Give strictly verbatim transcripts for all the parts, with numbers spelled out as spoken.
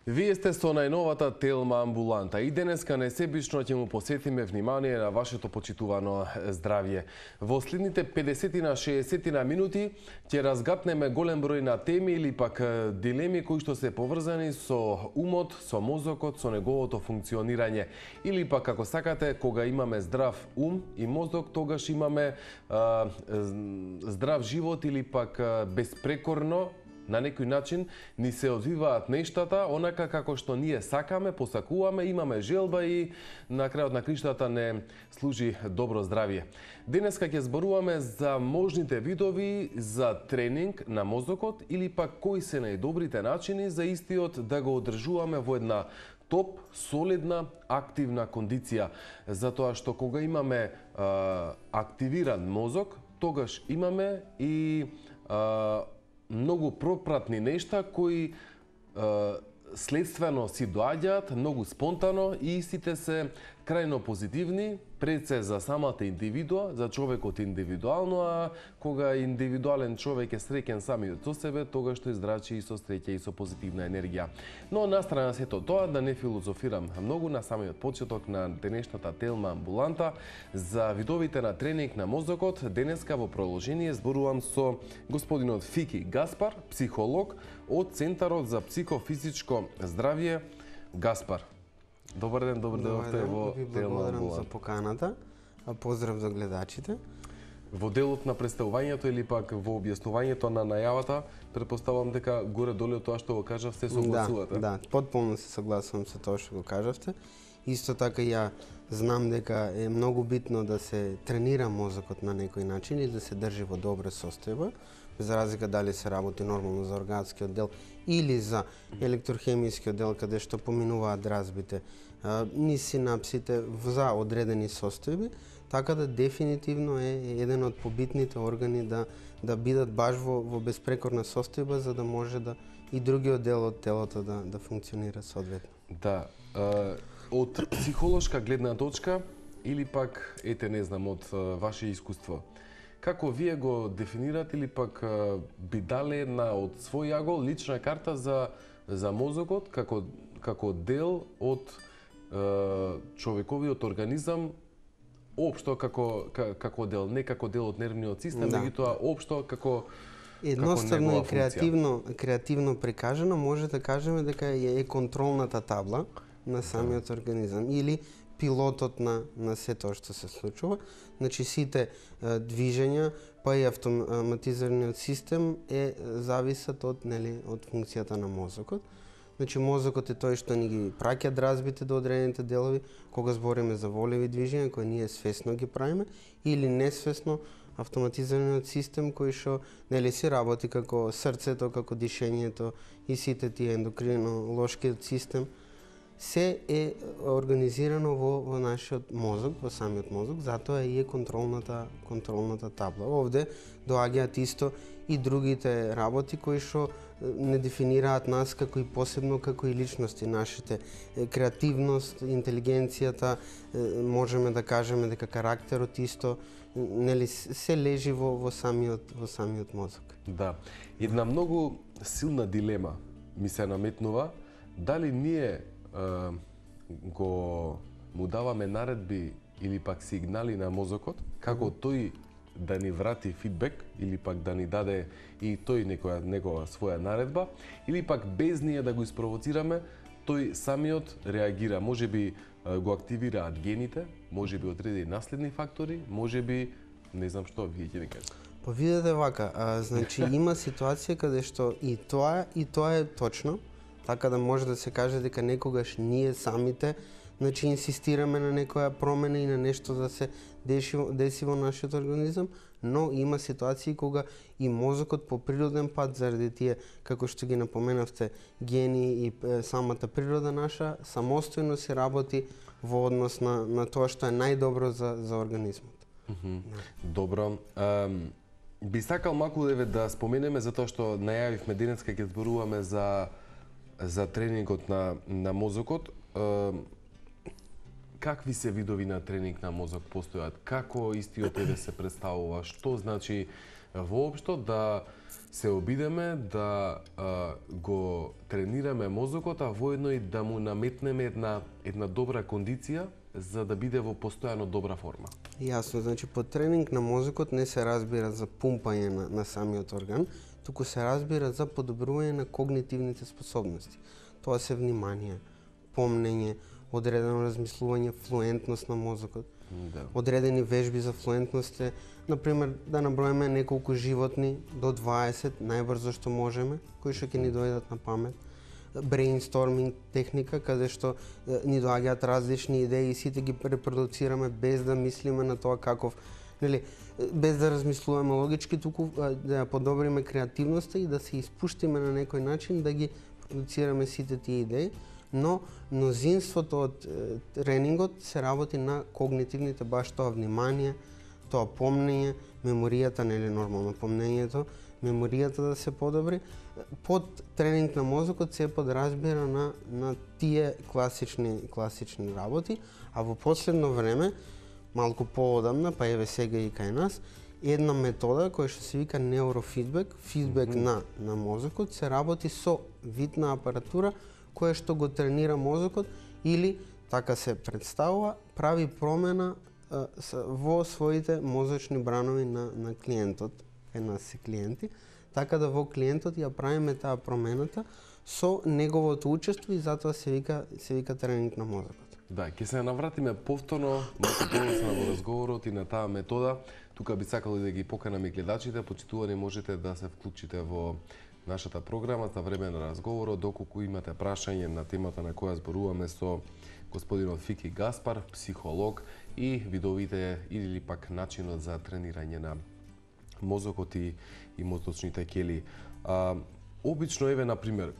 Вие сте со најновата Телма амбуланта и денеска несебично ќе му посветиме внимание на вашето почитувано здравје. Во следните педесет на шеесет на минути ќе разгатнеме голем број на теми или пак дилеми кои што се поврзани со умот, со мозокот, со неговото функционирање. Или пак како сакате, кога имаме здрав ум и мозок, тогаш имаме а, здрав живот или пак безпрекорно на некој начин ни се одвиваат нештата онака како што ние сакаме, посакуваме, имаме желба и на крајот на криштата не служи добро здравје. Денеска ќе зборуваме за можните видови за тренинг на мозокот или пак кои се најдобрите начини за истиот да го одржуваме во една топ, солидна, активна кондиција. Затоа што кога имаме а, активиран мозок, тогаш имаме и а, многу пропратни нешта кои е, следствено си доаѓаат многу спонтано и истите се крајно позитивни, пред се за самата индивидуа, за човекот индивидуално, а кога индивидуален човек е среќен самиот со себе, тогаш тој здрачи и со среќа и со позитивна енергија. Но настрана сето тоа, да не филозофирам многу на самиот почеток на денешната Телма амбуланта за видовите на тренинг на мозокот, денеска во продолжение зборувам со господинот Фики Гаспар, психолог од Центарот за психофизичко здравје Гаспар. Добар ден, добар ден, во Телма амбуланта. За поканата, а поздрав за гледачите. Во делот на представувањето или пак во објаснувањето на најавата, претпоставувам дека горе-долу тоа што го кажавте согласувате. Да, да, потполно се согласувам со тоа што го кажавте. Исто така ја знам дека е многу битно да се тренира мозокот на некој начин и да се држи во добра состојба, за разлика дали се работи нормално за органскиот дел или за електрохемискиот дел, каде што поминуваат дразбите низ синапсите за одредени состојби, така да дефинитивно е еден од побитните органи да да бидат баш во, во безпрекорна состојба, за да може да и другиот дел од телото да да функционира соодветно. Да, е, од психолошка гледна точка или пак ете не знам од ваше искуство, како вие го дефинирате или пак би дали една од свој агол лична карта за за мозокот како како дел од е, човековиот организам, општо како како дел, не како дел од нервниот систем, да. меѓутоа општо како едноставно и креативно креативно прикажано може да кажеме дека е контролната табла на самиот да. организам или пилотот на на се тоа што се случува. Значи сите е, движења, па и автоматизираниот систем е зависат од нели од функцијата на мозокот. Значи мозокот е тој што ни ги праќа дразбите до одредените делови кога збориме за волеви движења кои ние свесно ги правиме или несвесно автоматизираниот систем кој што нели си работи како срцето, како дишењето и сите тие ендокринолошкиот систем се е организирано во, во нашиот мозок, во самиот мозок, затоа и е контролната контролната табла. Овде доаѓаат исто и другите работи кои што не дефинираат нас како и посебно како и личности, нашите креативност, интелигенцијата, можеме да кажеме дека карактерот исто нели се лежи во во самиот во самиот мозок. Да. Една многу силна дилема ми се наметнува, дали ние Uh, го му даваме наредби или пак сигнали на мозокот, како тој да ни врати фидбек или пак да ни даде и тој некоја негова своја наредба, или пак без ние да го испровоцираме, тој самиот реагира. Може би uh, го активираат гените, може би одредени наследни фактори, може би не знам што, вие ќе ми кажете. Па видете вака, а, значи има ситуација каде што и тоа и тоа е точно. Така да може да се каже дека некогаш ние самите значи инсистираме на некоја промена и на нешто да се деси, деси во нашиот организам, но има ситуации кога и мозокот по природен пат заради тие, како што ги напоменавте, гени и е, самата природа наша, самостојно се работи во однос на, на тоа што е најдобро за, за организмот. Mm-hmm. Добро. Um, би сакал малку да споменеме, затоа што најавивме денеска ќе зборуваме за за тренингот на, на мозокот. Е, какви се видови на тренинг на мозок постојат? Како истиот еве се представува? Што значи воопшто да се обидеме да а, го тренираме мозокот, а воедно и да му наметнеме една една добра кондиција за да биде во постојано добра форма? Јасно, значи по тренинг на мозокот не се разбира за пумпање на, на самиот орган, туку се разбира за подобрување на когнитивните способности. Тоа се внимание, помнење, одредено размислување, флуентност на мозокот. Да. Одредени вежби за флуентност е, например, да наброиме неколку животни до дваесет, најбрзо што можеме, кои што ќе ни дојдат на памет. Брейнсторминг техника, каде што е, ни доаѓаат различни идеи и сите ги репродуцираме без да мислиме на тоа каков, нели, без да размислуваме логички, туку да ја подобриме креативноста и да се испуштиме на некој начин да ги продуцираме сите тие идеи, но мнозинството од е, тренингот се работи на когнитивните, баш тоа внимание, тоа помнење, меморијата, нели нормално помнењето, меморијата да се подобри. Под тренинг на мозокот се подразбира на, на тие класични, класични работи, а во последно време, малку поодамна, па еве сега и кај нас, една метода која што се вика неурофидбек, фидбек mm -hmm. на, на мозокот, се работи со вид на апаратура која што го тренира мозокот или, така се представува, прави промена а, во своите мозочни бранови на, на клиентот, кај нас се клиенти, така да во клиентот ја правиме таа промената со неговото учество и затоа се вика, се вика тренинг на мозокот. Да, ќе се навратиме повторно, малку подоцна во разговорот и на таа метода. Тука би сакал да ги поканам и гледачите, почитувани можете да се вклучите во нашата програма за време на разговорот, доколку имате прашање на темата на која зборуваме со господинот Фики Гаспар, психолог, и видовите или пак начинот за тренирање на мозокот и, и мозочните ќели. А, обично, еве, например,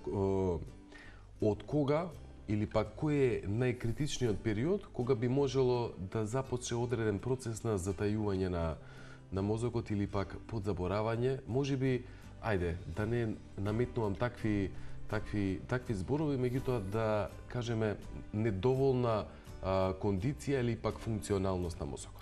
од кога или пак кој е најкритичниот период кога би можело да започне одреден процес на затајување на, на мозокот или пак подзаборавање? Може би, ајде, да не наметнувам такви, такви, такви зборови, меѓутоа да кажеме недоволна а, кондиција или пак функционалност на мозокот.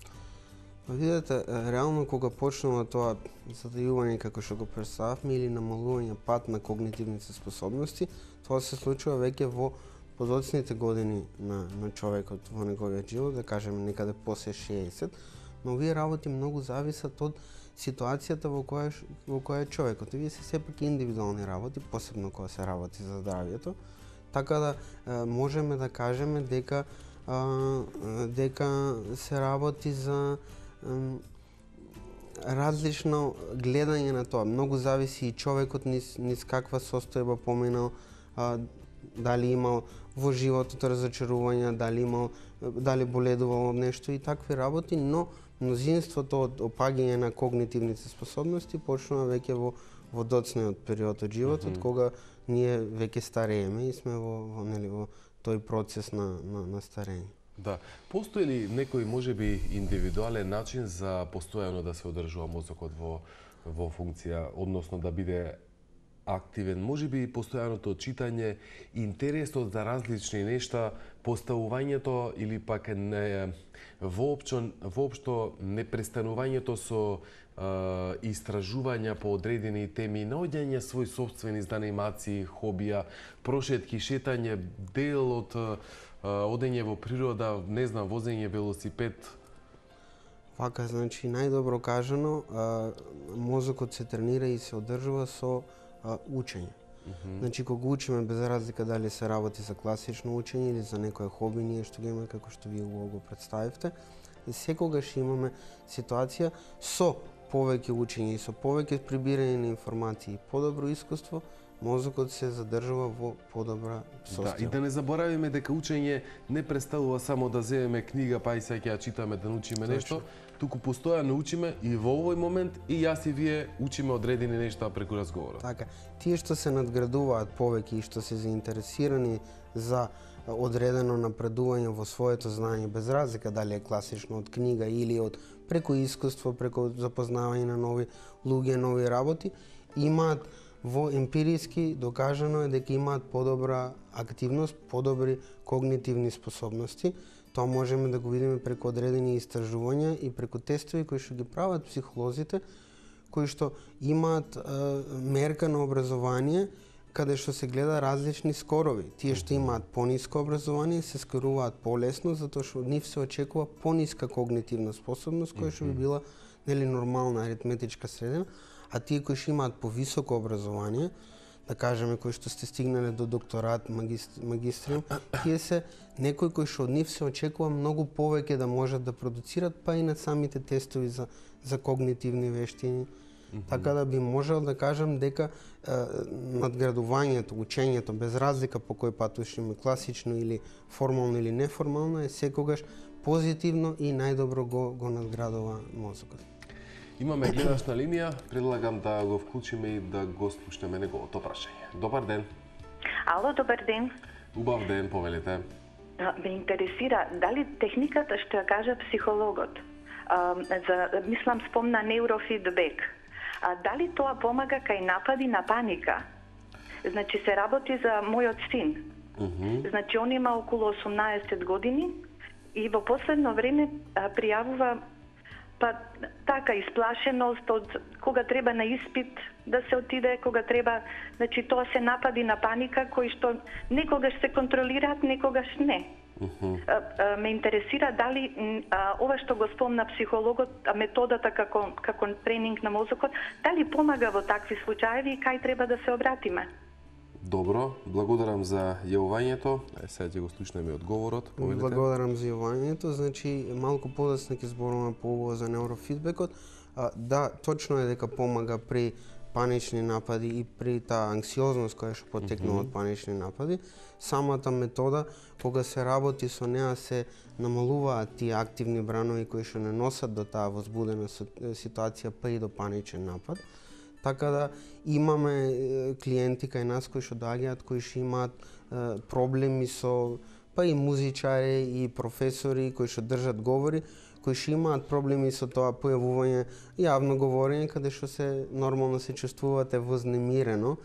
Видете, реално кога почнува тоа затајување како што го представавме или намалување пат на когнитивните способности, тоа се случува веќе во подоцните години на, на човекот во неговиот живот, да кажеме некаде после шеесет, но овие работи многу зависат од ситуацијата во која во која е човекот. Овие се сепак индивидуални работи, посебно кога се работи за здравјето, така да е, можеме да кажеме дека а, дека се работи за е, различно гледање на тоа. Многу зависи и човекот низ, низ каква состојба поминал, а, дали имал во животот разочарувања, дали имал, дали боледувал од нешто и такви работи, но мнозинството од опаѓање на когнитивните способности почнува веќе во во доцниот период од животот, mm -hmm. кога ние веќе старееме и сме во, во нели во тој процес на на, на старење. Да. Постои ли некој можеби индивидуален начин за постојано да се одржува мозокот во во функција, односно да биде активен, можеби постојаното читање, интересот за различни нешта, поставувањето или пак не воопшто воопшто непрестанувањето со е, истражувања по одредени теми, наоѓање свои сопствени занимации, хобија, прошетки, шетање, дел од е, одење во природа, не знам, возење велосипед. Вака, значи најдобро кажано, а, мозокот се тренира и се одржува со а, учење. Mm -hmm. Значи кога учиме, без разлика дали се работи за класично учење или за некое хоби, ние што го имаме како што вие го представивте, секогаш имаме ситуација со повеќе учење и со повеќе прибирање на информации и подобро искуство, мозокот се задржува во подобра состојба. Да, и да не заборавиме дека учење не представува само да земеме книга па и сега ќе ја читаме да научиме нешто, туку постојано учиме и во овој момент и јас и вие учиме одредени нешта преку разговорот. Така, тие што се надградуваат повеќе и што се заинтересирани за одредено напредување во своето знаење, без разлика дали е класично од книга или од преку искуство, преку запознавање на нови луѓе, нови работи, имаат во емпириски докажано е дека имаат подобра активност, подобри когнитивни способности. Тоа можеме да го видиме преку одредени истражувања и преку тестови кои што ги прават психолозите, кои што имаат е, мерка на образование, каде што се гледа различни скорови. Тие што имаат пониско образование се скоруваат полесно, затоа што од нив се очекува пониска когнитивна способност, која што би била нели нормална аритметичка средина, а тие кои што имаат повисоко образование, да кажеме кои што сте стигнале до докторат, магистр, магистриум, тие се некои кои што од нив се очекува многу повеќе да можат да продуцират, па и на самите тестови за за когнитивни вештини. Mm-hmm. Така да би можел да кажам дека е, надградувањето, учењето, без разлика по кој пат ушиме класично или формално или неформално, е секогаш позитивно и најдобро го, го надградува мозокот. Имаме гледач на линија, предлагам да го вклучиме и да го слушнеме неговото прашање. Добар ден. Ало, добар ден. Убав ден, повелете. Ме интересира дали техниката што ја кажа психологот, а, за мислам спомна неурофидбек. А дали тоа помага кај напади на паника? Значи се работи за мојот син. Mm-hmm. Значи он има околу осумнаесет години и во последно време а, пријавува па така исплашеност од кога треба на испит да се отиде, кога треба, значи тоа се напади на паника кои што некогаш се контролираат, некогаш не. Uh-huh. А, а, ме интересира дали а, ова што го спомна психологот, а, методата како како тренинг на мозокот, дали помага во такви случаи и кај треба да се обратиме? Добро, благодарам за јавувањето. Е, сега ќе го слушнеме одговорот. Повелите. Благодарам за јавувањето. Значи, малку подоцна ќе зборуваме по ово за неурофидбекот. А, да, точно е дека помага при панични напади и при таа анксиозност која што потекнува mm-hmm. од панични напади. Самата метода, кога се работи со неа, се намалуваат тие активни бранови кои што не носат до таа возбудена ситуација, па и до паничен напад. Така да имаме клиенти кај нас кои што доаѓаат, кои што имаат е, проблеми со па и музичари и професори кои што држат говори, кои што имаат проблеми со тоа појавување јавно говорење, каде што се нормално се чувствувате вознемирено,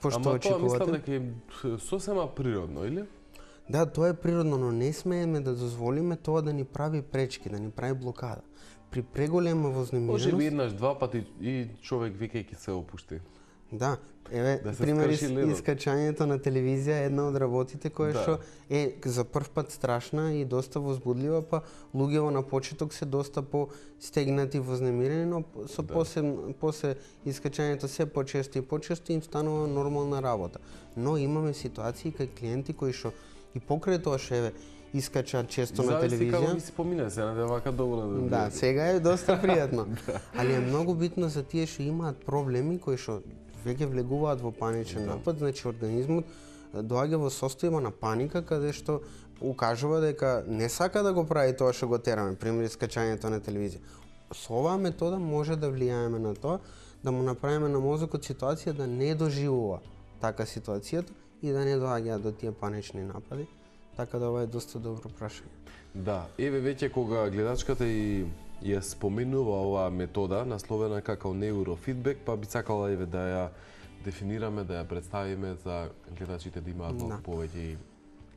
пошто Ама очекувате. тоа мислам дека е сосема природно, или? Да, тоа е природно, но не смееме да дозволиме тоа да ни прави пречки, да ни прави блокада. При преголема вознемиреност... Може би еднаш, два пати и човек викајќи се опушти. Да, еве, да пример искачањето на телевизија е една од работите која што да. е за прв пат страшна и доста возбудлива, па луѓето на почеток се доста по стегнати, вознемирени, но со да. после, после искачањето се почесто и почесто им станува нормална работа. Но имаме ситуации кај клиенти кои што и покрај тоа што еве искачаат често на телевизија. Зависи како ви се помине, се наде вака доволно. Да, сега е доста пријатно. да. Али е многу битно за тие што имаат проблеми кои што веќе влегуваат во паничен да. напад, значи организмот доаѓа во состојба на паника каде што укажува дека не сака да го прави тоа што го тераме, пример искачањето на телевизија. Со оваа метода може да влијаеме на тоа, да му направиме на мозокот ситуација да не доживува така ситуацијата и да не доаѓаат до тие панични напади. Така да ова е доста добро прашање. Да, еве веќе кога гледачката и ја споменува оваа метода насловена како неурофидбек, па би сакала еве да ја дефинираме, да ја представиме за гледачите да имаат малку да. повеќе и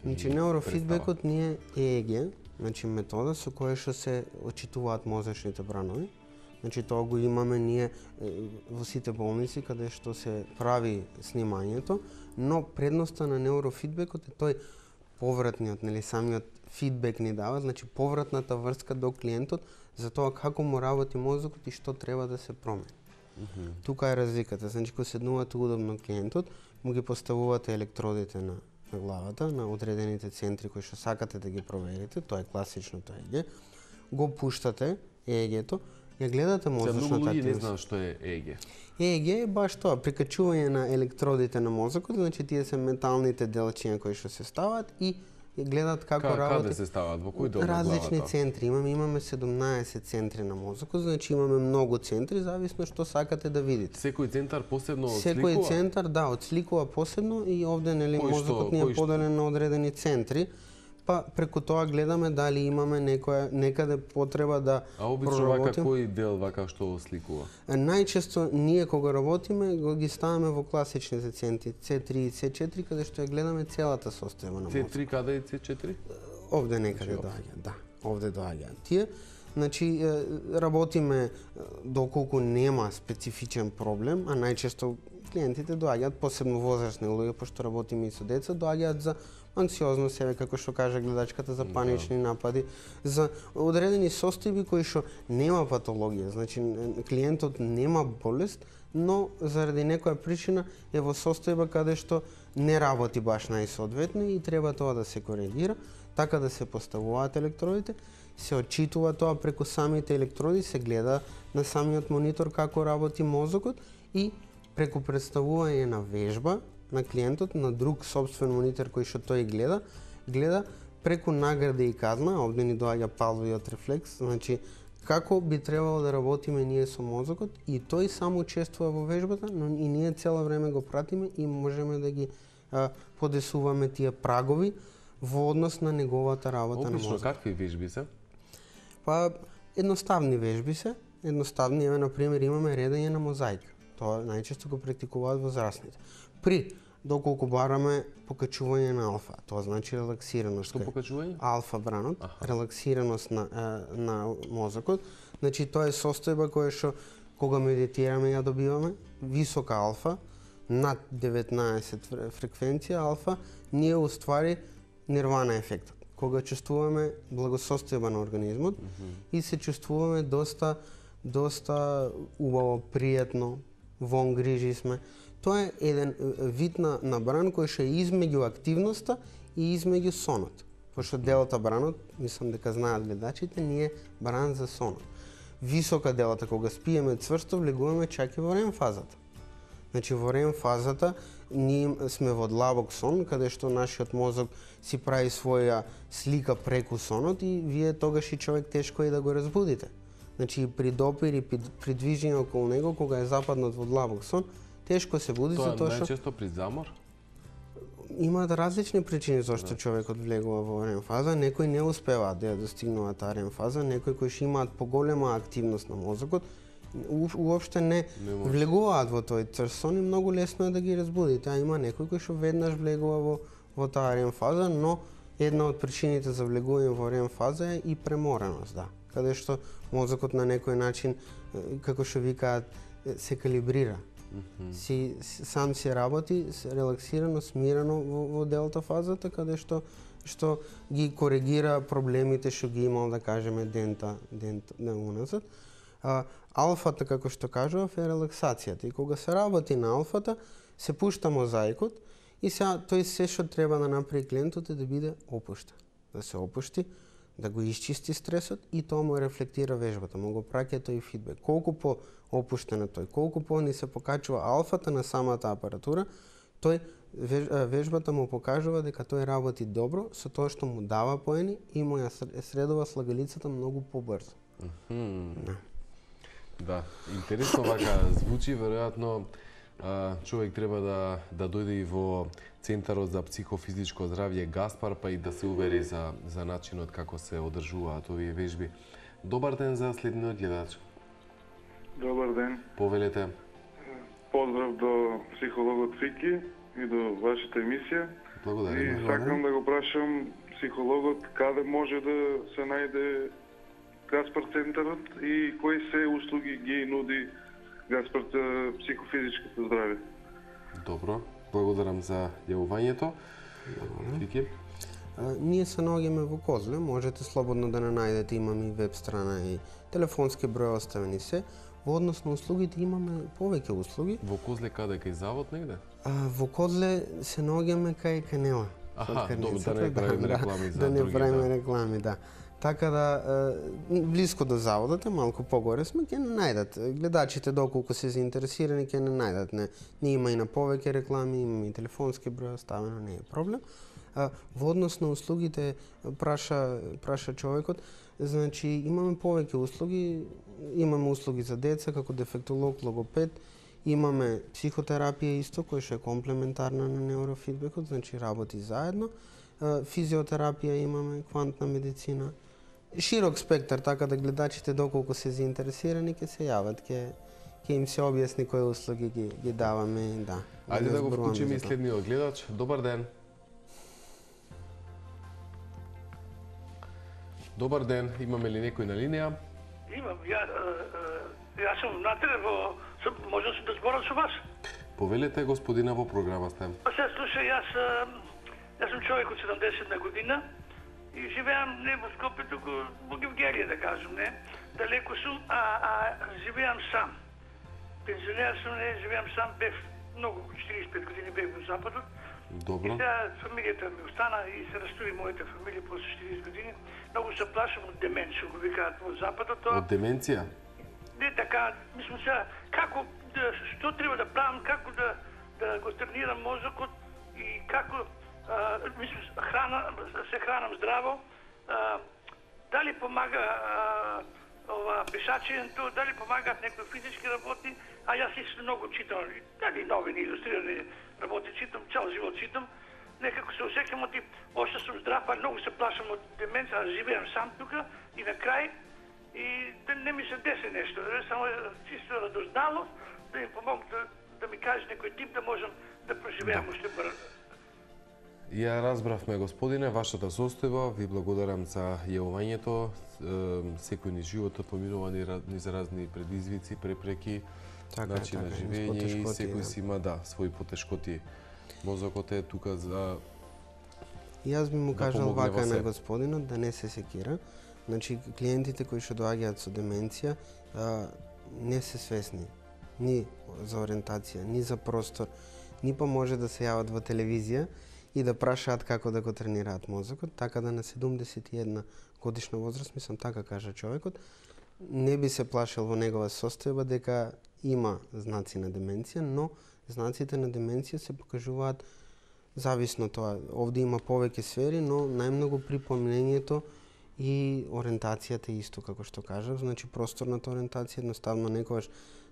Значи неурофидбекот ни е Е Е Ге, значи метода со која што се очитуваат мозочните бранови. Значи тоа го имаме ние во сите болници каде што се прави снимањето, но предноста на неурофидбекот е тој повратниот, нели самиот фидбек ни дава, значи повратната врска до клиентот за тоа како му работи мозокот и што треба да се промени. Mm-hmm. Тука е разликата, значи кога седнувате удобно клиентот, му ги поставувате електродите на, на главата, на одредените центри кои што сакате да ги проверите, тоа е класичното Е Е Ге, го пуштате Е Е Гето, ја гледате мозочната активност. Многу луѓе не знаат што е Е Е Ге. Е Е Ге е баш тоа, прикачување на електродите на мозокот, значи тие се металните делчиња кои што се стават и гледат како Ка, работи. Каде се стават? Во кој дел на различни главата? центри. Имаме имаме седумнаесет центри на мозокот, значи имаме многу центри, зависно што сакате да видите. Секој центар посебно одсликува? Секој центар, да, одсликува посебно и овде нели Кој мозокот што, ни е кој поделен на одредени центри. Па преку тоа гледаме дали имаме некоја некаде потреба да А обично вака кој дел вака што осликува? Најчесто ние кога работиме го ги ставаме во класичните центри Це три и Це четири каде што ја гледаме целата состојба на Це мозокот. три каде е Це четири? овде некаде доаѓаат, да, овде доаѓаат тие. Значи, работиме доколку нема специфичен проблем, а најчесто клиентите доаѓаат, посебно возрастни луѓе, пошто работиме и со деца, доаѓаат за анксиозност, себе како што кажа гледачката, за панични напади, за одредени состојби кои што нема патологија, значи клиентот нема болест, но заради некоја причина е во состојба каде што не работи баш најсоодветно и треба тоа да се коригира, така да се поставуваат електродите, се отчитува тоа преку самите електроди, се гледа на самиот монитор како работи мозокот и преку представување на вежба на клиентот, на друг собствен монитор кој што тој гледа, гледа преку награда и казна, овде ни доаѓа палвиот рефлекс, значи како би требало да работиме ние со мозокот и тој само учествува во вежбата, но и ние цело време го пратиме и можеме да ги а, подесуваме тие прагови во однос на неговата работа Обично, на мозокот. Обично, какви вежби се? Па, едноставни вежби се, едноставни, еве, например, имаме редење на мозаика. Тоа најчесто го практикуваат возрастните. При, доколку бараме покачување на алфа, тоа значи релаксираност. Што покачување? Алфа бранот, Аха. релаксираност на, е, на мозокот. Значи, тоа е состојба која што, кога медитираме, ја добиваме, висока алфа, над деветнаесет фреквенција алфа, ние уствари нирвана ефектот. Кога чувствуваме благосостојба на организмот mm -hmm. и се чувствуваме доста доста убаво, пријатно, вон грижи сме. Тоа е еден вид на, на бран кој што е измеѓу активноста и измеѓу сонот. Пошто делата бранот, мислам дека знаат гледачите, ние бран за сонот. Висока делата, кога спиеме цврсто, влегуваме чак и во рем фазата. Значи во рем фазата ние сме во длабок сон, каде што нашиот мозок си прави своја слика преку сонот и вие тогаш и човек тешко е да го разбудите. Значи при допир и при движење околу него, кога е западнат во длабок сон, тешко се буди тоа затоа што најчесто при замор? Имаат различни причини зашто да. човекот влегува во рем фаза, некои не успеваат да ја достигнуваат таа рем фаза, некои кои што имаат поголема активност на мозокот, уопште не, не влегуваат во тој црс сон и многу лесно е да ги разбудите, а има некој кој што веднаш влегува во, во таа рем фаза, но една од причините за влегување во рем фаза е и премореност, да, каде што мозокот на некој начин, како што викаат, се калибрира. Mm-hmm. Си, сам си работи релаксирано, смирено во, во делта фазата, каде што што ги коригира проблемите што ги имал, да кажеме, дента, дента на уназад. А, алфата, како што кажував, е релаксацијата. И кога се работи на алфата, се пушта мозаикот и сега тој се што треба да направи клиентот е да биде опуштен. Да се опушти, да го исчисти стресот и тоа му рефлектира вежбата, му го праќа тој фидбек. Колку по опуштен е тој, колку по ни се покачува алфата на самата апаратура, тој вежбата му покажува дека тој работи добро со тоа што му дава поени и му ја средува слагалицата многу побрзо. Mm-hmm. Да. Да, интересно вака звучи, веројатно човек треба да да дојде и во Центарот за психофизичко здравје Гаспар, па и да се увери за за начинот како се одржуваат овие вежби. Добар ден за следниот гледач. Добар ден. Повелете. Поздрав до психологот Фики и до вашата емисија. Благодарам. И сакам да го прашам психологот каде може да се најде Гаспар Центарот и кои се услуги ги нуди Гаспар психофизичкото здравје. Добро, благодарам за јавувањето. Фики? Ние се наоѓаме во Козле, можете слободно да не најдете, имаме и веб страна и телефонски број оставени се. Во однос на услугите имаме повеќе услуги. Во Козле каде, кај завод негде? А, во Козле се наоѓаме кај Канела. Аха, добро, да не правиме реклами за да други. Да не правиме реклами, да. Така да, блиско до заводот е, малку погоре сме, ќе не најдат. Гледачите, доколку се заинтересирани, ќе не најдат. Не, не има и на повеќе реклами, имаме и телефонски број оставено, не е проблем. А, во однос на услугите, праша, праша човекот, значи имаме повеќе услуги, имаме услуги за деца, како дефектолог, логопед, имаме психотерапија исто, која што е комплементарна на неурофидбекот, значи работи заедно, физиотерапија имаме, квантна медицина, широк спектар, така да гледачите доколку се заинтересирани ќе се јават, ќе ќе им се објасни кои услуги ги, ги даваме, да. Ајде да го вклучиме и следниот гледач. Добар ден. Добар ден, имаме ли некој на линија? Имам, ја, јас сум натре во, можам да зборам со вас? Повелете, господина, во програма сте. Па се, слушај, јас, јас сум човек од седумдесетна година и живеам не во Скопје, туку во Гевгелија, да кажем, не? Далеко сум, а, а живеам сам. Пензионер сум, не, живеам сам, бев многу, четириесет и пет години бев во Западот. Добро. И сега фамилијата ми остана и се растури мојата фамилија после четириесет години. Многу се плашам од деменција, го викаат во Западот. Тоа... Од деменција? Не така, мислам сега, како, да, што треба да правам, како да, да го тренирам мозокот и како, а, мислам, храна, се хранам здраво, а, дали помага а, ова пешачењето, дали помагаат некои физички работи, а јас исто многу читам, дали новини, илустрирани работи читам, цел живот читам, некако се осеќам од тип, още сум здрав, а многу се плашам од деменција, а живеам сам тука и на крај, и да не ми се деси нешто, само чисто радознало, да им помогна да, да ми каже некој тип да можам да преживеам уште брзо. Ја разбравме, господине, вашата состојба, ви благодарам за јавувањето. Секој ни животот поминува низ разни предизвици, препреки, така, начин на така, живење и секој да. си има, да, своји потешкоти. Мозокот е тука за... Јас би му да кажал вака на господинот да не се секира. Значи, клиентите кои што доаѓаат со деменција а, не се свесни ни за ориентација, ни за простор, ни па може да се јават во телевизија и да прашаат како да го тренираат мозокот, така да на седумдесет и една годишна возраст, мислам така кажа човекот, не би се плашил во негова состојба дека има знаци на деменција, но знаците на деменција се покажуваат зависно тоа. Овде има повеќе сфери, но најмногу при помнењето и ориентацијата исто, како што кажав, значи просторната ориентација, едноставно некогаш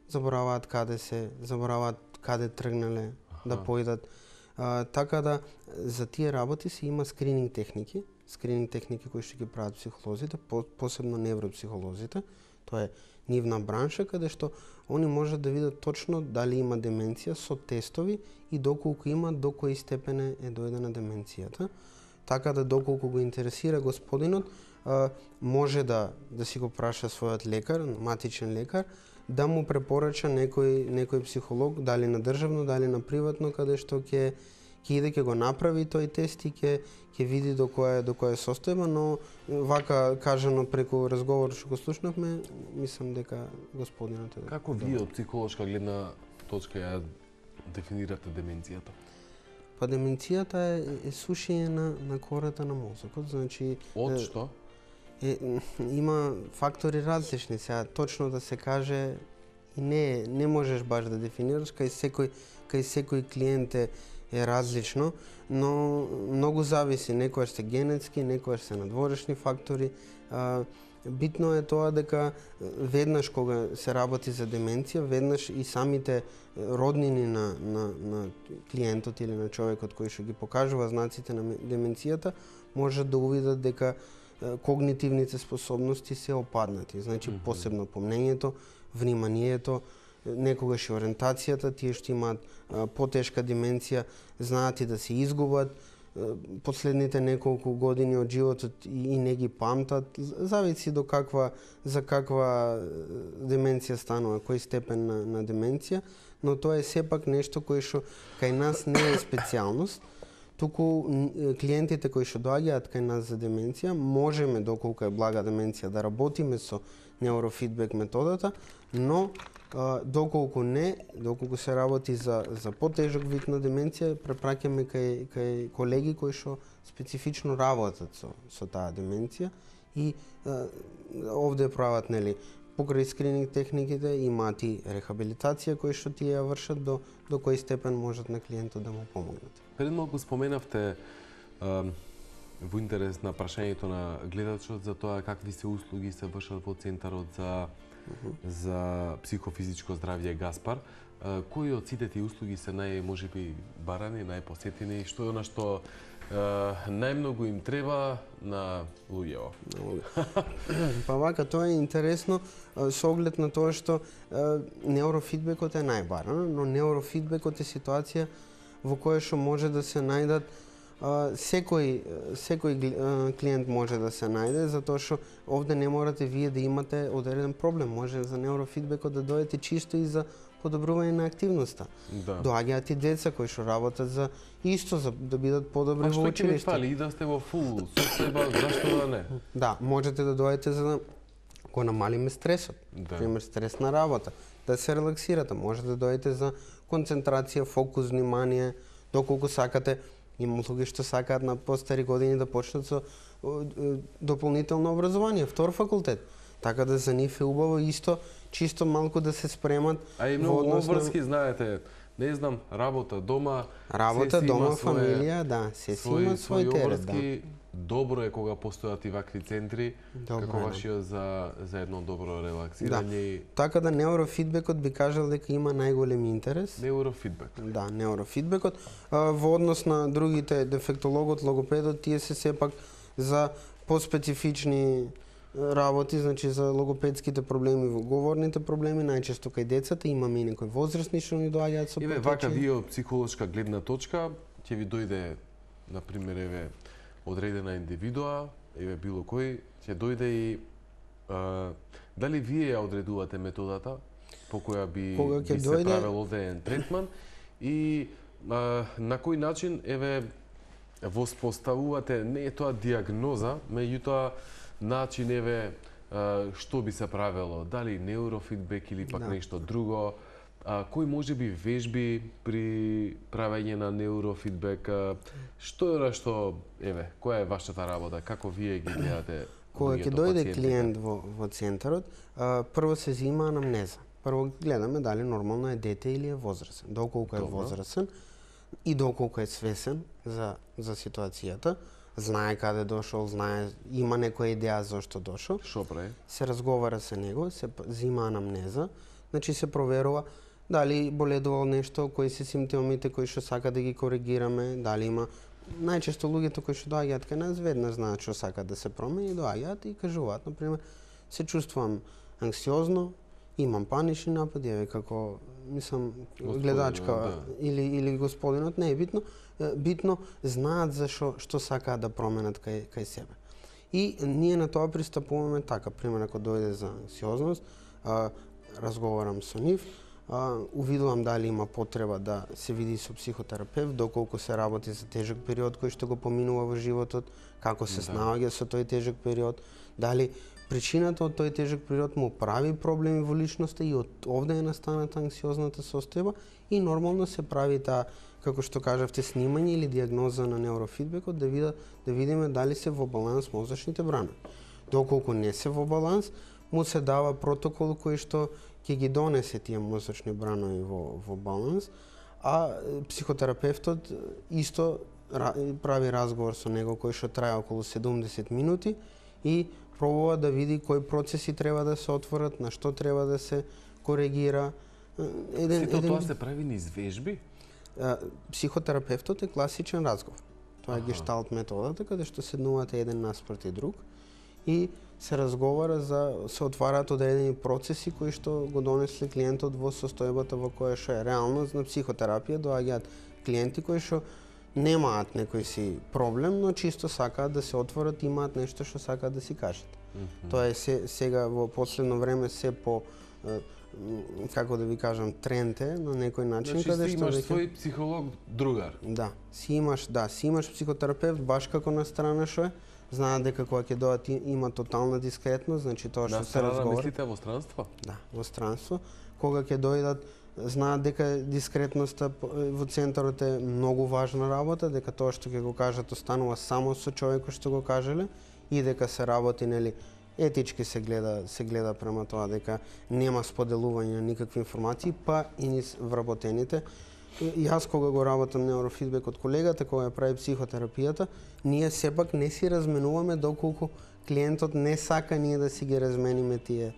забораваат каде се, забораваат каде тргнале да појдат. А, така да за тие работи се има скрининг техники, скрининг техники кои што ги прават психолозите, по, посебно невропсихолозите. Тоа е нивна бранша каде што они можат да видат точно дали има деменција со тестови и доколку има, до кој степен е дојдена деменцијата. Така да доколку го интересира господинот, а, може да да си го праша својот лекар, матичен лекар, да му препорача некој некој психолог, дали на државно, дали на приватно, каде што ќе ќе иде ќе го направи тој тест и ќе ќе види до која до која состојба, но вака кажано преку разговор што го слушнавме, мислам дека господинот е. Како вие од психолошка гледна точка ја дефинирате деменцијата? Па деменцијата е, е сушење на на кората на мозокот, значи Од што? Е, има фактори различни, сега точно да се каже и не не можеш баш да дефинираш, кај секој кај секој клиент е, е различно, но многу зависи, некојаш се генетски, некојаш се надворешни фактори. А, битно е тоа дека веднаш кога се работи за деменција, веднаш и самите роднини на на на клиентот или на човекот кој што ги покажува знаците на деменцијата можат да увидат дека когнитивните способности се опаднати, значи mm -hmm. посебно помнењето, вниманието, некогаш и ориентацијата, тие што имаат а, потешка деменција знаат и да се изгубат а, последните неколку години од животот и, и не ги памтат, зависи до каква за каква деменција станува, кој степен на, на деменција, но тоа е сепак нешто кое што кај нас не е специјалност. Туку клиентите кои што доаѓаат кај нас за деменција, можеме, доколку е блага деменција, да работиме со неурофидбек методата, но а, доколку не, доколку се работи за за потежок вид на деменција, препраќаме кај кај колеги кои што специфично работат со со таа деменција и а, овде прават, нели, покрај скрининг техниките имаат и рехабилитација кои што тие ја вршат, до до кој степен можат на клиентот да му помогнат. Пред малку споменавте а, во интерес на прашањето на гледачот за тоа какви се услуги се вршат во Центарот за uh -huh. за психофизичко здравје Гаспар. А, кои од сите тие услуги се нај можеби барани, најпосетени, што е она што Uh, најмногу им треба на луѓето? Па вака, тоа е интересно со оглед на тоа што uh, неурофидбекот е најбаран, но неурофидбекот е ситуација во која што може да се најдат секој секој клиент може да се најде, затоа што овде не морате вие да имате одреден проблем. Може за неурофидбекот да дојдете чисто и за подобрување на активноста. Да. Доаѓаат и деца кои што работат за исто, за да бидат подобри во училиште. А што ќе ви училиште. фали и да сте во фул состојба, зашто да не? Да, можете да дојдете за да го намалиме стресот. Да. Пример, стрес на работа, да се релаксирате. Можете да дојдете за концентрација, фокус, внимание, доколку сакате. Има луѓе што сакаат на постари години да почнат со дополнително образование, втор факултет. Така да за нив е убаво исто, чисто малку да се спремат. А и многу обврски, знаете, не знам, работа, дома, работа, се дома, има фамилија, да, се си има свој терет, да. Добро е кога постојат и вакви центри, Добро како е, да. вашиот за за едно добро релаксирање Да. и Така да неурофидбекот би кажал дека има најголем интерес. неурофидбек. Да, неурофидбекот. А, во однос на другите, дефектологот, логопедот, тие се сепак за поспецифични работи, значи за логопедските проблеми, во говорните проблеми, најчесто кај децата, имаме и некои возрастни што ни доаѓаат со Еве потече. вака вие од психолошка гледна точка ќе ви дојде на пример еве одредена индивидуа, еве било кој, ќе дојде и а, дали вие ја одредувате методата по која би, Кога ќе би се дојде- правел одреден третман и а, на кој начин еве воспоставувате, не е тоа диагноза, меѓутоа начин еве а, што би се правело, дали неурофидбек или пак Да. нешто друго, а, кои може би вежби при правење на неурофидбек, а, што е она што, еве, која е вашата работа, како вие ги гледате Кога ќе луѓето, дојде пациентите? клиент во, во центарот, а, прво се зема анамнеза. Прво гледаме дали нормално е дете или е возрасен. Доколку е Добро. возрасен и доколку е свесен за, за ситуацијата, знае каде дошол, знае, има некоја идеја зашто дошол, Што прави? се разговара со него, се п- зема анамнеза, значи се проверува дали боледувал нешто, кои се симптомите кои што сака да ги коригираме, дали има најчесто луѓето кои што доаѓаат кај нас веднаш знаат што сакаат да се промени, доаѓаат и кажуваат, на пример, се чувствувам анксиозно, имам панични напади, еве како мислам Господинот, гледачка да. или или господинот, не е битно, е, битно знаат за што што сакаат да променат кај кај себе. И ние на тоа пристапуваме така, пример ако дојде за анксиозност, а, разговарам со нив, а, увидувам дали има потреба да се види со психотерапевт, доколку се работи за тежок период кој што го поминува во животот, како се Да. снаоѓа со тој тежок период, дали причината од тој тежок период му прави проблеми во личноста и од овде е настаната анксиозната состојба и нормално се прави таа, како што кажавте, снимање или диагноза на неурофидбекот да вида да видиме дали се во баланс мозочните бранови. Доколку не се во баланс, му се дава протокол кој што ќе ги донесе тие мозочни бранови во, во баланс, а е, психотерапевтот е, исто ра, прави разговор со него кој што трае околу седумдесет минути и пробува да види кои процеси треба да се отворат, на што треба да се коригира. Е, Еден, Сето еден, тоа се прави низ вежби? а, психотерапевтот е класичен разговор. Тоа е Аха. гешталт методата, каде што седнувате еден наспроти друг и се разговара за се отвараат одредени процеси кои што го донесле клиентот во состојбата во која што е реално на психотерапија доаѓаат клиенти кои што немаат некој си проблем, но чисто сакаат да се отворат, имаат нешто што сакаат да си кажат. Мгм. Тоа е се, сега во последно време се по е, м, како да ви кажам, тренд е на некој начин Значи, каде си што имаш веќе- свој психолог другар. Да, си имаш, да, си имаш психотерапевт баш како на страна што е, знаат дека кога ќе дојдат и- има тотална дискретност, значи тоа што На се страна разговара. мислите во странство? Да, во странство, кога ќе дојдат знаат дека дискретноста по- во центарот е многу важна работа, дека тоа што ќе го кажат останува само со човекот што го кажеле и дека се работи нели етички се гледа се гледа према тоа дека нема споделување на никакви информации, па и низ вработените. И јас кога го работам неурофидбек од колегата кога ја прави психотерапијата, ние сепак не си разменуваме доколку клиентот не сака ние да си ги размениме тие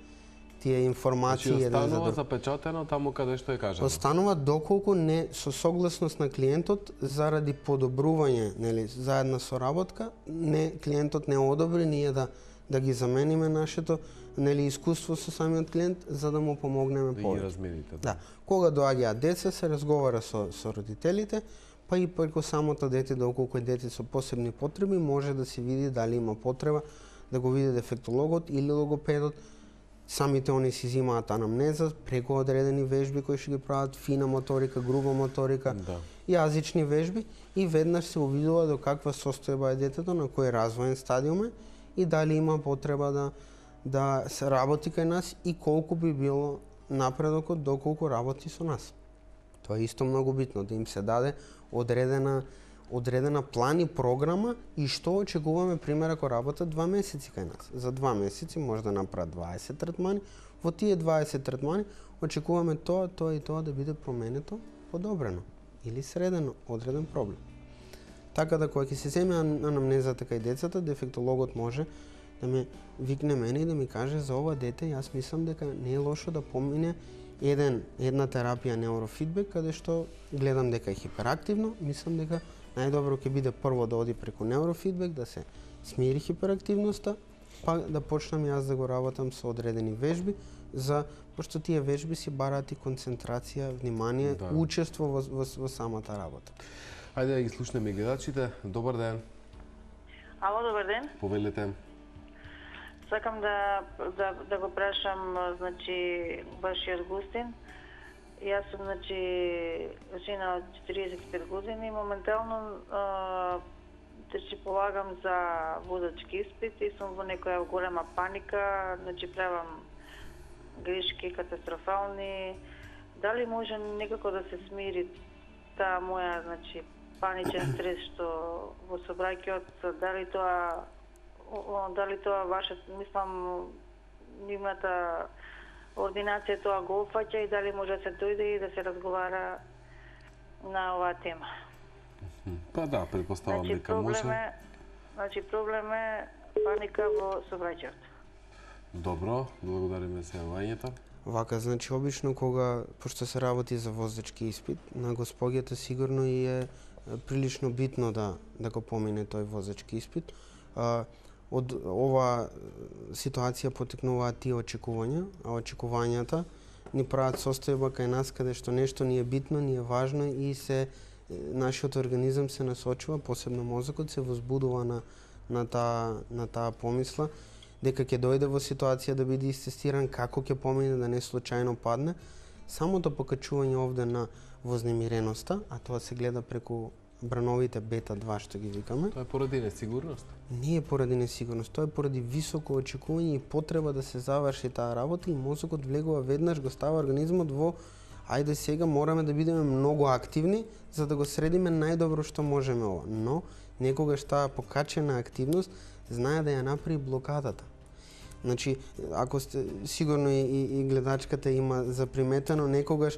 тие информации Значи, еден за останува друг. запечатено таму каде што е кажано. Останува доколку не со согласност на клиентот заради подобрување, нели, заедна соработка, не клиентот не одобри ние да да ги замениме нашето нели искуство со самиот клиент за да му помогнеме Да ги повеќе. размените. Да. Кога доаѓаат деца, се разговара со, со родителите, па и преку самото дете, доколку е дете со посебни потреби, може да се види дали има потреба да го види дефектологот или логопедот. Самите они си земаат анамнеза преку одредени вежби кои ќе ги прават фина моторика, груба моторика, Да. јазични вежби и веднаш се увидува до каква состојба е детето, на кој развоен стадиум е и дали има потреба да да се работи кај нас и колку би било напредокот доколку работи со нас. Тоа е исто многу битно, да им се даде одредена одредена план и програма и што очекуваме, пример, ако работат два месеци кај нас. За два месеци може да направат дваесет третмани, во тие дваесет третмани очекуваме тоа, тоа и тоа да биде променето, подобрено или средено, одреден проблем. Така да кога ќе се земе анамнезата кај децата, дефектологот може да ме викне мене и да ми каже за ова дете, јас мислам дека не е лошо да помине еден една терапија неурофидбек, каде што гледам дека е хиперактивно, мислам дека најдобро ќе биде прво да оди преку неурофидбек, да се смири хиперактивноста, па да почнам јас да го работам со одредени вежби, за пошто тие вежби си бараат и концентрација, внимание, Да. учество во, во, во самата работа. Ајде да ги слушнеме гледачите. Добар ден. Ало, добар ден. Повелете. Сакам да, да, да го прашам, значи, вашиот гостин. Јас сум, значи, жена од четириесет и пет години. Моментално а, да си полагам за возачки испит и сум во некоја голема паника, значи правам грешки катастрофални. Дали може некако да се смири таа моја, значи, паничен стрес што во собраќајот, дали тоа о, дали тоа ваша, мислам, нивната ординација тоа го опфаќа и дали може да се дојде и да се разговара на оваа тема. Па да, предпоставам Значи дека може. проблем е, значи проблем е паника во собраќајот. Добро, благодариме за јавањето. Вака, значи, обично кога, пошто се работи за возачки испит, на госпоѓата сигурно и е прилично битно да, да го помине тој возачки испит. А, од ова ситуација потекнуваат тие очекувања, а очекувањата ни прават состојба кај нас каде што нешто ни е битно, ни е важно и се нашиот организам се насочува, посебно мозокот се возбудува на на таа на таа помисла дека ќе дојде во ситуација да биде истестиран, како ќе помине, да не случајно падне. Самото покачување овде на вознемиреноста, а тоа се гледа преку брановите бета два што ги викаме, Тоа е поради несигурност. не е поради несигурност, тоа е поради високо очекување и потреба да се заврши таа работа и мозокот влегува веднаш, го става организмот во ајде сега мораме да бидеме многу активни за да го средиме најдобро што можеме ова. Но некогаш таа покачена активност знае да ја направи блокадата. Значи, ако сте сигурно и, и, и гледачката има заприметено, некогаш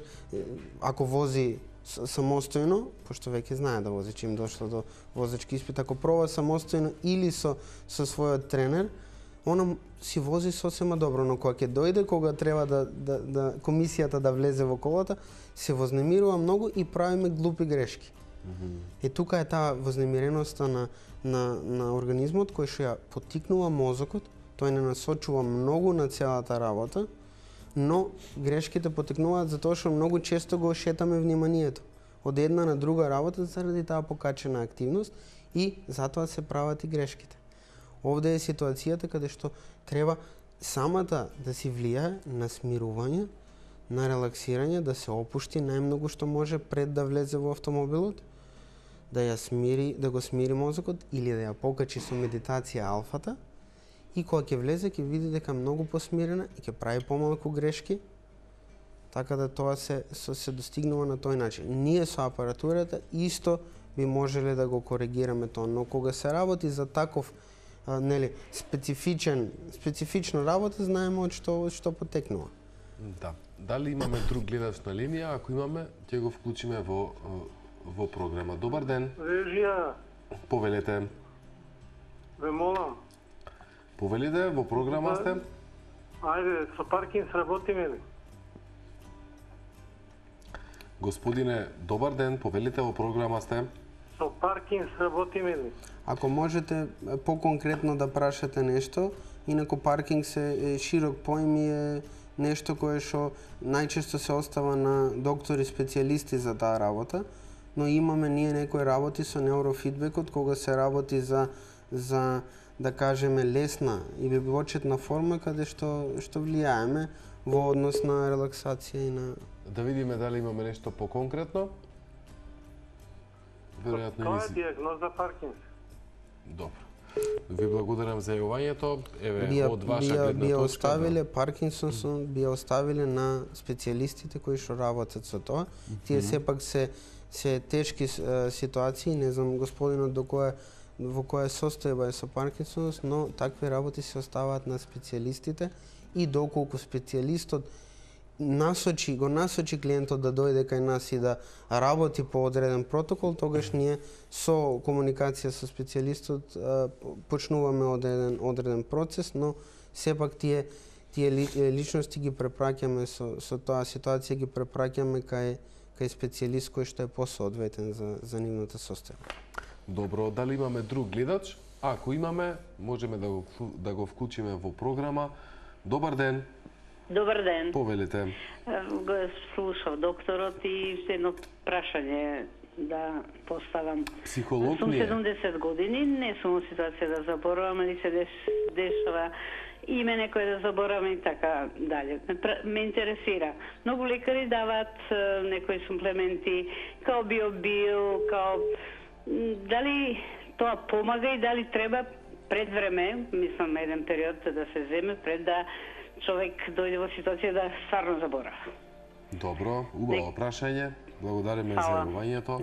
ако вози самостојно, пошто веќе знае да вози чим дошла до возачки испит, ако проба самостојно или со со својот тренер, она си вози сосема добро, но кога ќе дојде, кога треба да, да, да комисијата да влезе во колата, се вознемирува многу и правиме глупи грешки. Mm-hmm. Е тука е таа вознемиреноста на, на, на организмот кој што ја поттикнува мозокот, тој не насочува многу на целата работа, но грешките потекнуваат затоа што многу често го шетаме вниманието од една на друга работа заради таа покачена активност и затоа се прават и грешките. Овде е ситуацијата каде што треба самата да си влијае на смирување, на релаксирање, да се опушти најмногу што може пред да влезе во автомобилот, да ја смири, да го смири мозокот или да ја покачи со медитација алфата и кога ќе влезе ќе види дека многу посмирена и ќе прави помалку грешки, така да тоа се се, се достигнува на тој начин. Ние со апаратурата исто би можеле да го коригираме тоа, но кога се работи за таков а, нели специфичен специфична работа, знаеме од што од што потекнува. Да. Дали имаме друг гледач на линија? Ако имаме, ќе го вклучиме во во програма. Добар ден. Режија, Повелете. ве молам. Повелите, во програма сте. Ајде, со Паркинс работиме ли? Господине, добар ден. Повелите, во програма сте. Со Паркинс работиме ли? Ако можете поконкретно да прашате нешто, инаку паркинг се е широк поим и е нешто кое што најчесто се остава на доктори специјалисти за таа работа, но имаме ние некои работи со неурофидбекот кога се работи за за да кажеме лесна или почетна форма каде што што влијаеме во однос на релаксација и на Да видиме дали имаме нешто поконкретно. Веројатно Тоа ни е си... диагноза Паркинс. Добро. Ви благодарам за јавувањето. Еве, би ја- од ваша би ја- гледна би ја точка. оставиле Паркинсон, би ја оставиле на специјалистите кои што работат со тоа. Тие сепак се се тешки е, ситуации, не знам господинот до која во која состојба е со Паркинсонс, но такви работи се оставаат на специјалистите и доколку специјалистот насочи, го насочи клиентот да дојде кај нас и да работи по одреден протокол, тогаш ние со комуникација со специјалистот е, почнуваме одреден одреден процес, но сепак тие тие ли, личности ги препраќаме со со тоа ситуација ги препраќаме кај кај специјалист кој што е посоодветен за за нивната состојба. Добро, дали имаме друг гледач? Ако имаме, можеме да го вклю- да го вклучиме во програма. Добар ден, Добар ден. повелите. Го слушав докторот и се едно прашање да поставам. Психолог Сум ли е? седумдесет години, не сум во ситуација да заборавам, али се деш, дешава име некој да заборавам и така дале. Ме, пр- ме интересира. Многу лекари даваат е, некои суплементи, као биобил, као... м, Дали тоа помага и дали треба пред време, мислам еден период да се земе пред да човек дојде во ситуација да стварно заборава. Добро, убаво прашање. Благодариме за Фала. јавувањето.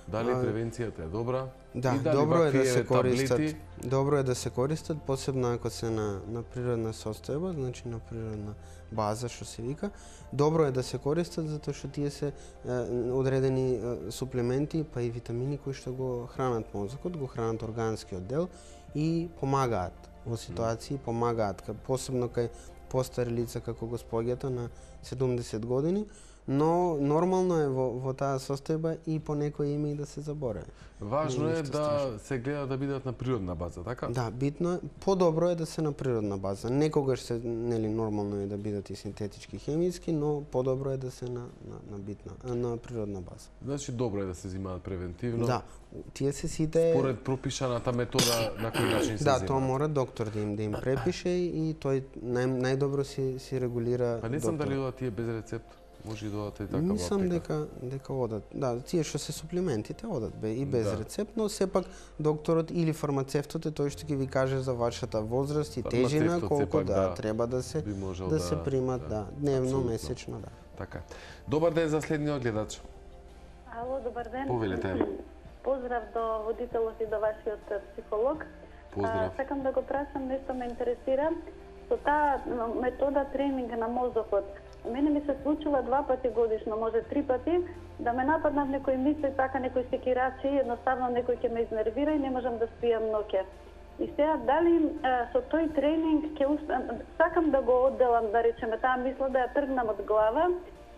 Дали превенцијата е добра? Да, И дали добро е да вакви, се еве, користат. таблети? Добро е да се користат, посебно ако се на на природна состојба, значи на природна база што се вика. Добро е да се користат затоа што тие се е, одредени е, суплементи, па и витамини кои што го хранат мозокот, го хранат органскиот дел и помагаат во ситуации, помагаат ка- посебно кај постари лица како господјата на седумдесет години, но нормално е во, во таа состојба и по некој име и да се заборави. Важно Не е нешто да страшно. се гледа да бидат на природна база, така? Да, битно е, подобро е да се на природна база. Некогаш се нели нормално е да бидат и синтетички хемиски, но подобро е да се на на, на битна, а, на природна база. Значи добро е да се земаат превентивно. Да, тие се сите Според пропишаната метода на кој начин се Да, земаат. тоа мора доктор да им да им препише и тој нај, најдобро си си регулира. Па не знам доктор. дали одат тие без рецепт. Може и да одат и така во Мислам аптека. дека дека одат. Да, тие што се суплементите одат бе и без Да. рецепт, но сепак докторот или фармацевтот е тој што ќе ви каже за вашата возраст и тежина, Фармацевтот колку сепак, да, да, треба да се би можел да, да- се примат, да, да, дневно, апсолутно. месечно, да. Така. Добар ден за следниот гледач. Ало, добар ден. Повелете. Поздрав до водителот и до вашиот е, психолог. Поздрав. А, сакам да го прашам, нешто ме интересира. Со таа м, метода тренинг на мозокот, мене ми се случува два пати годишно, може три пати, да ме нападнат некои мисли, така некои секирачи, едноставно некој ќе ме изнервира и не можам да спијам ноќе. И сега, дали а, со тој тренинг ќе успеам, сакам да го одделам, да речеме, таа мисла да ја тргнам од глава,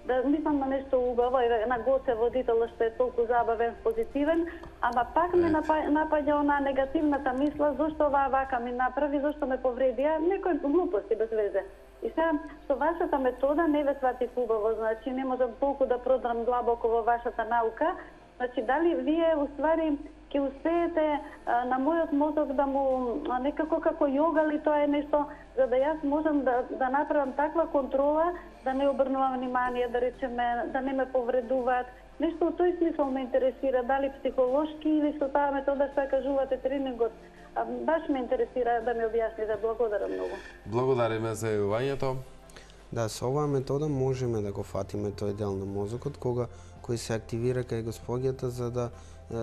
да мислам на нешто убаво, еве на Гоце водител што е толку забавен, позитивен, ама пак ме напа- напаѓа онаа негативната мисла, зошто оваа вака ми направи, зошто ме повредија, некои глупости без везе. И сега, со вашата метода не ве сватив убаво, значи не можам толку да продрам длабоко во вашата наука. Значи, дали вие, уствари, ќе успеете а, на мојот мозок да му, а, некако како јога ли тоа е нешто, за да јас можам да, да направам таква контрола, да не обрнувам внимание, да речеме, да не ме повредуваат. Нешто во тој смисол ме интересира, дали психолошки или со таа метода што ја кажувате тренингот. А, баш ме интересира да ми објасните. Благодарам многу. Благодариме за јавувањето. Да, со оваа метода можеме да го фатиме тој дел на мозокот кога кој се активира кај господјата за да е,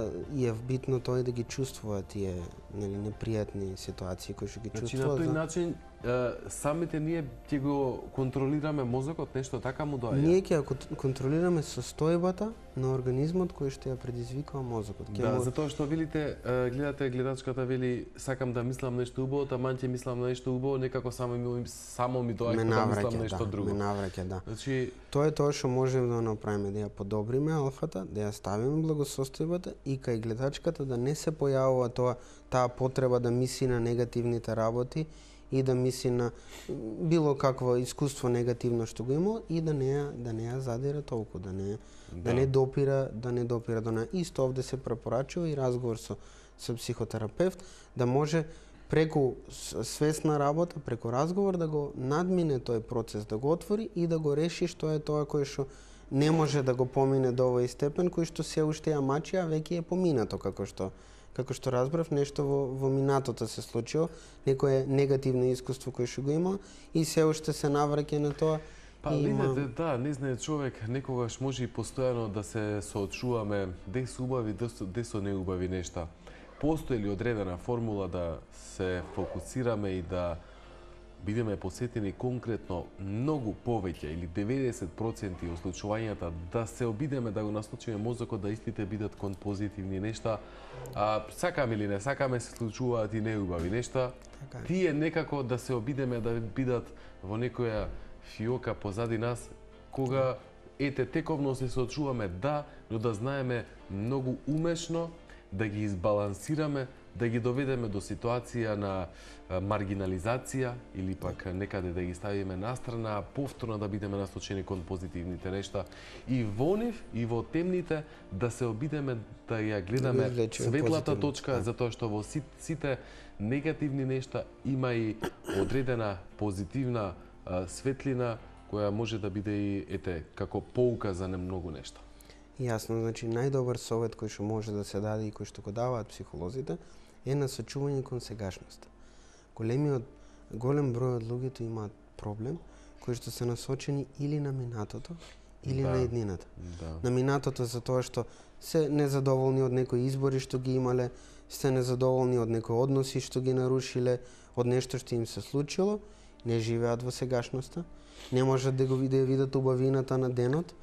е битно тој да ги чувствува тие нели непријатни ситуации кои што ги Значи на чувствува. тој за- начин е, самите ние ќе го контролираме мозокот, нешто така му доаѓа. Ние ќе ја кон- контролираме состојбата на организмот кој што ја предизвикува мозокот. Ќе Да, му- затоа што велите, е, гледате гледачката вели сакам да мислам нешто убаво, таман ќе мислам на нешто убаво, некако само ми само ми доаѓа ме да мислам навраќа, нешто да, друго. ме навраќа, да. Значи, Тоа е тоа што можеме да направиме, да ја подобриме алфата, да ја ставиме благосостојбата и кај гледачката да не се појавува тоа таа потреба да мисли на негативните работи и да мисли на било какво искуство негативно што го има и да не ја, да не ја задира толку, да не да, да не допира, да не допира до неа. Исто овде се препорачува и разговор со со психотерапевт да може преку свесна работа, преку разговор да го надмине тој процес, да го отвори и да го реши што е тоа кој што не може да го помине до овој степен, кој што се уште ја мачи, а веќе е поминато, како што како што разбрав, нешто во, во минатото се случило, некое негативно искуство кој што го има и се уште се навраќа на тоа. Па, видите, да, не знае човек, некогаш може и постојано да се соочуваме де се убави, де се неубави нешта. Постои ли одредена формула да се фокусираме и да бидеме посетени конкретно многу повеќе или деветдесет проценти од случувањата да се обидеме да го насочиме мозокот да истите бидат кон позитивни нешта, а сакаме или не сакаме се случуваат и неубави нешта, така, тие некако да се обидеме да бидат во некоја фиока позади нас, кога ете тековно се соочуваме да, но да знаеме многу умешно да ги избалансираме, да ги доведеме до ситуација на маргинализација или пак некаде да ги ставиме настрана, а повторно да бидеме насочени кон позитивните нешта и во нив и во темните да се обидеме да ја гледаме да светлата точка, да. Затоа што во сите негативни нешта има и одредена позитивна а, светлина која може да биде и ете како поука за немногу нешта. Јасно, значи најдобар совет кој што може да се даде и кој што го даваат психолозите е насочување кон сегашноста. Големиот голем број од луѓето имаат проблем кои што се насочени или на минатото или да, на иднината. Да. На минатото за тоа што се незадоволни од некои избори што ги имале, се незадоволни од некои односи што ги нарушиле, од нешто што им се случило, не живеат во сегашноста, не можат да го виде, видат убавината на денот,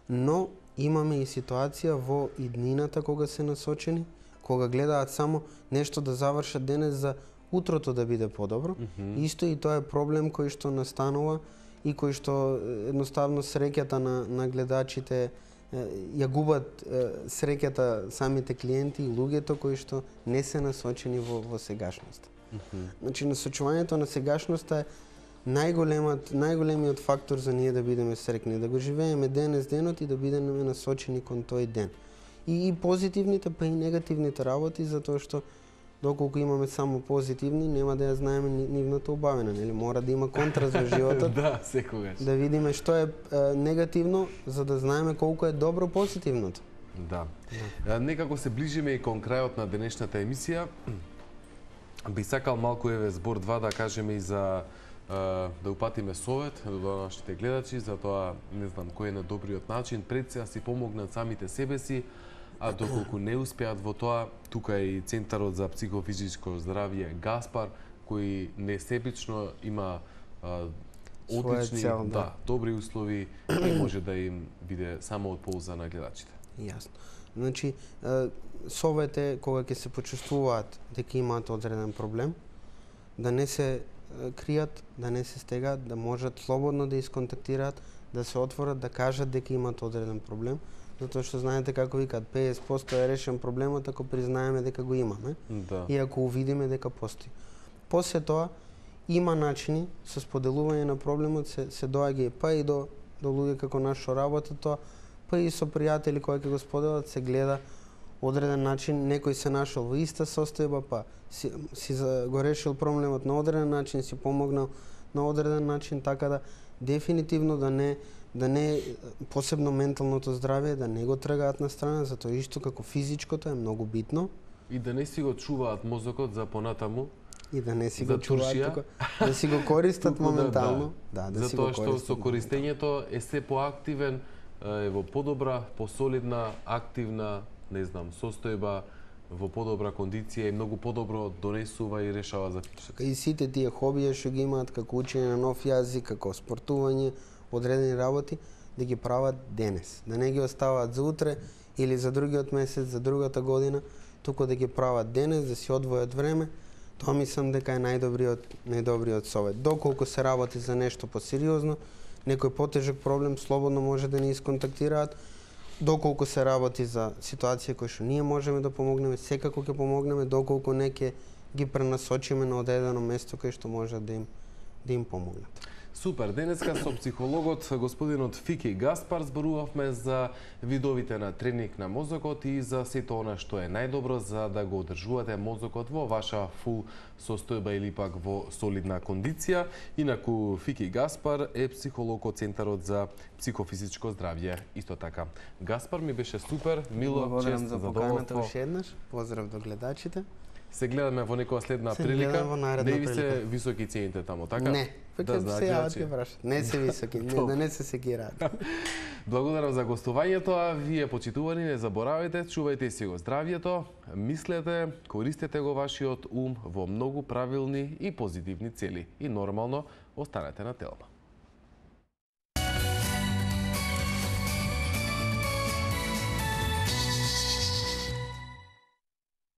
но имаме и ситуација во иднината кога се насочени, кога гледаат само нешто да завршат денес за утрото да биде подобро. Mm-hmm. Исто и тоа е проблем кој што настанува и кој што едноставно среќата на, на гледачите ја губат среќата самите клиенти и луѓето кои што не се насочени во, во сегашноста. Mm-hmm. Значи насочувањето на сегашноста е најголемиот најголемиот фактор за ние да бидеме среќни, да го живееме денес денот и да бидеме насочени кон тој ден. И, и позитивните, па и негативните работи, затоа што доколку имаме само позитивни, нема да ја знаеме нивната убавина, нели? Мора да има контра за животот. Да, секогаш. Да видиме што е, е негативно, за да знаеме колку е добро позитивното. Да. да. Некако се ближиме и кон крајот на денешната емисија. Би сакал малку еве збор два да кажеме и за да упатиме совет до нашите гледачи за тоа, не знам кој е најдобриот начин, пред се си помогнат самите себе си, а доколку не успеат во тоа, тука е и Центарот за психофизичко здравје Гаспар, кој несебично има а, одлични, цел, да. да, добри услови и може да им биде само од полза на гледачите. Јасно. Значи, совет е кога ќе се почувствуваат дека имаат одреден проблем, да не се кријат, да не се стегаат, да можат слободно да исконтактираат, да се отворат, да кажат дека имаат одреден проблем, затоа што знаете како викаат педесет проценти е решен проблемот ако признаеме дека го имаме да. И ако увидиме дека постои. После тоа има начини со споделување на проблемот се се доаѓа па и до до луѓе како нас што работат тоа, па и со пријатели кои ќе го споделат, се гледа одреден начин, некој се нашол во иста состојба, па си, си за, го решил проблемот на одреден начин, си помогнал на одреден начин, така да дефинитивно да не да не посебно менталното здравје да не го тргаат на страна, затоа исто како физичкото е многу битно. И да не си го чуваат мозокот за понатаму. И да не си го чуваат, тука, да си го користат моментално. Да, да, да, да си го користат. Затоа што со користењето е се поактивен, е во подобра, посолидна, активна, не знам, состојба, во подобра кондиција и многу подобро донесува и решава заклучоци. И сите тие хобија што ги имаат, како учење на нов јазик, како спортување, одредени работи, да ги прават денес. Да не ги оставаат за утре или за другиот месец, за другата година, туку да ги прават денес, да си одвојат време. Тоа мислам дека е најдобриот најдобриот совет. Доколку се работи за нешто посериозно, некој потежок проблем, слободно може да ни исконтактираат. Доколку се работи за ситуација која што ние можеме да помогнеме, секако ќе помогнеме, доколку не ќе ги пренасочиме на одредено место кај што може да им да им помогнат. Супер, денеска со психологот господинот Фики Гаспар зборувавме за видовите на тренинг на мозокот и за сето она што е најдобро за да го одржувате мозокот во ваша фул состојба или пак во солидна кондиција. Инаку Фики Гаспар е психолог од Центарот за психофизичко здравје. Исто така, Гаспар, ми беше супер, мило, чест, за поканата уште еднаш. Поздрав до гледачите. Се гледаме во некоја следна се прилика. Не ви се високи цените таму, така? Не, да, се јават ке прашат. Не се високи, не, да не се секираат. Благодарам за гостувањето, а вие почитувани не заборавајте, чувајте си го здравјето, мислете, користете го вашиот ум во многу правилни и позитивни цели и нормално останете на Телма.